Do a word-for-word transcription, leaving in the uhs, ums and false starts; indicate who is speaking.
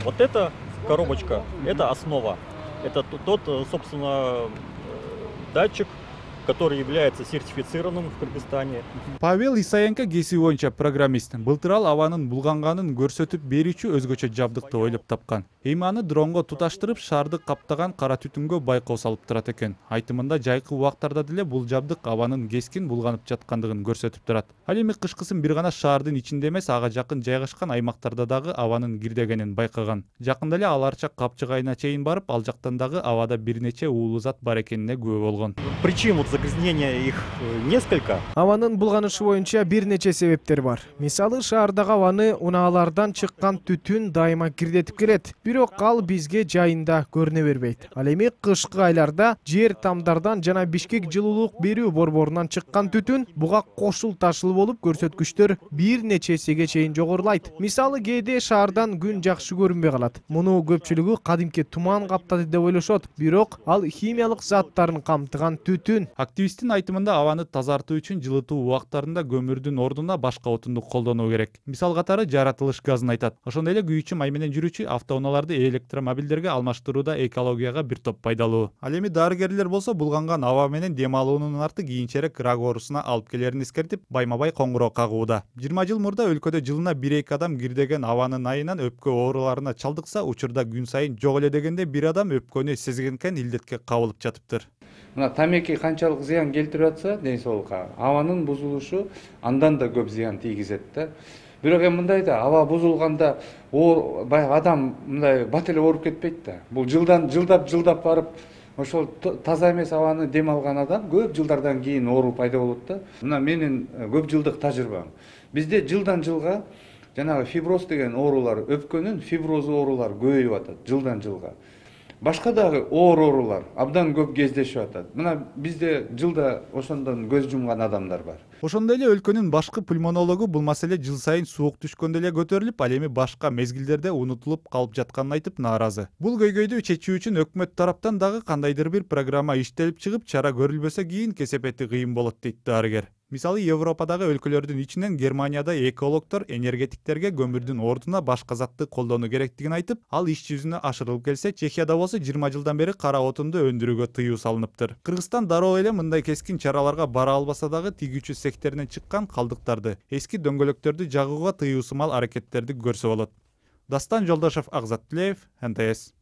Speaker 1: Вот эта коробочка, это основа. Это т- тот, э, собственно, э, датчик, который является сертифицированным в Кыргызстане.
Speaker 2: Павел Исаенко кесиби боюнча программист. Былтыр ал абанын булганганын көрсөтүп берүүчү өзгөчө жабдыкты ойлоп тапкан. Эми аны дронго туташтырып, шаарды каптаган кара түтүнгө байкоо салып турат экен. Айтымында жайкы убактарда деле бул жабдык абанын кескин булганып жаткандыгын көрсөтүп турат. Ал эми кышкысын бир гана шаардын ичинде эмес, ага жакын жайгашкан аймактарда дагы абанын кирдегенин байкаган. Жакында эле ал Арчак капчыгайына чейин барып, ал жактан дагы абада бир нече уулуу зат бар экенине күбө болгон.
Speaker 1: Причин вот загрязнения их э, несколько.
Speaker 3: Абанын булганышы боюнча бир нече себептер бар. Мисалы, шаардагы абаны унаалардан чыккан түтүн дайыма кирдетип келет. Бирок ал бизге жайында көрүнө бербейт. Ал эми кышкы айларда жер тамдардан жана Бишкек жылуулук берүү борборунан чыккан түтүн буга кошул ташыл болуп, көрсөткүчтөр бир нече эсеге чейин жогорулайт. Мисалы, кээде шаардан күн жакшы көрүнбөй калат. Муну көпчүлүгү кадимки туман каптады деп ойлошот. Бирок ал химиялык заттарын камтыган түтүн.
Speaker 2: Активисттин айтымында абаны тазартуу үчүн жылытуу убактарында көмүрдүн ордуна башка отунду колдонуу керек. Мисал катары жаратылыш газын айтат. Ошондой эле күйүүчү май менен жүрүүчү автоунааларды электромобилдерге алмаштырууда экологияга бир топ пайдалуу. Ал эми дарыгерлер болсо булганган аба менен дем алуунун арты кийинчерээк рак оорусуна алып келерин эскертип, байма-бай коңгуроо кагууда. жыйырма жыл мурда өлкөдө жылына бир эки адам кирдеген абанын айынан өпкө ооруларына чалдыкса, учурда күн сайын жок эле дегенде бир адам өпкөнү сезгенкен илдетке кабылып жатыптыр.
Speaker 4: Мына тамеки канчалык зыян келтирип атса ден соолукка, абанын бузулушу андан да көп зыян тийгизет да. Бирок эми мындай да, аба бузулганда баягы адам мындай бат эле ооруп кетпейт да. Бул жылдан жылдап жылдап барып, ошол таза эмес абаны дем алган адам көп жылдардан кийин оору пайда болот да. Мына менин көп жылдык тажрыйбам. Бизде жылдан жылга жанагы фиброз деген оорулар, өпкөнүн фиброз оорулар көбөйүп атат жылдан жылга. Башка дагы оор оорулар абдан көп кездешип атат. Мына бизде жылда ошондон көз жумган адамдар бар.
Speaker 2: Ошондой эле өлкөнүн башкы пульмонологу бул маселе жыл сайын суук түшкөндө эле көтөрүлүп, ал эми башка мезгилдерде унутулуп калып жатканын айтып нааразы. Бул көйгөйдү чечүү үчүн өкмөт тараптан дагы кандайдыр бир программа иштелип чыгып, чара көрүлбөсө кийин кесепети кыйын болот дейт дарыгер. Мисалы, Европадагы өлкөлөрдүн ичинен Германияда экологдор энергетиктерге көмүрдүн ордуна башка затты колдонуу керектигин айтып, ал иш жүзүнө ашырылып келсе, Чехияда болсо жыйырма жылдан бери кара отунду өндүрүүгө тыюу салыныптыр. Кыргызстан дароо эле мындай кескин чараларга бара албаса дагы тигүүчү секторунан чыккан калдыктарды, эски дөңгөлөктөрдү жагууга тыюу сымал аракеттерди көрсө болот. Дастан Жолдошов, Акзат Тилеев, эн тэ эс.